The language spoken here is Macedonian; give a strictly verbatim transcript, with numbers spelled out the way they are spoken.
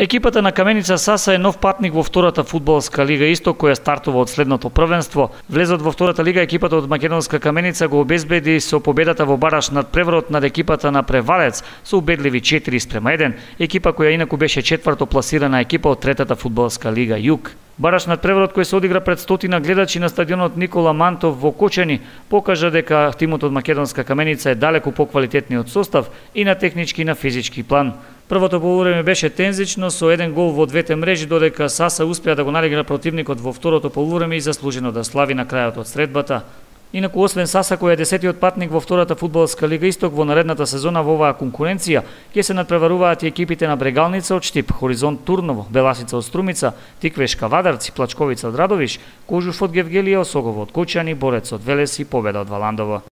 Екипата на Каменица Саса е нов патник во втората фудбалска лига Исток, која стартува од следното првенство. Влезот во втората лига екипата од македонска Каменица го обезбеди со победата во бараш над Преврот над екипата на Превалец со убедливи четири спрема еден, екипа која инаку беше четврто пласирана екипа од третата фудбалска лига Југ. Бараш над Преврот кој се одигра пред стотина гледачи на стадионот Никола Мантов во Кочани покажа дека тимот од македонска Каменица е далеку поквалитетниот состав и на технички и на физички план. Првото полувреме беше тензично со еден гол во двете мрежи, додека Саса успеа да го налегна противникот во второто полувреме и заслужено да слави на крајот од средбата. Инаку, освен Саса, кој е десетиот патник во втората фудбалска лига Исток, во наредната сезона во оваа конкуренција ќе се надпреваруваат и екипите на Брегалница од Штип, Хоризонт Турново, Беласица од Струмица, Тиквешка Вадарци, Плачковица од Радовиш, Кожуш од Гевгелија, Осогово од Кочани, Борец од Велес и Победа од Валандово.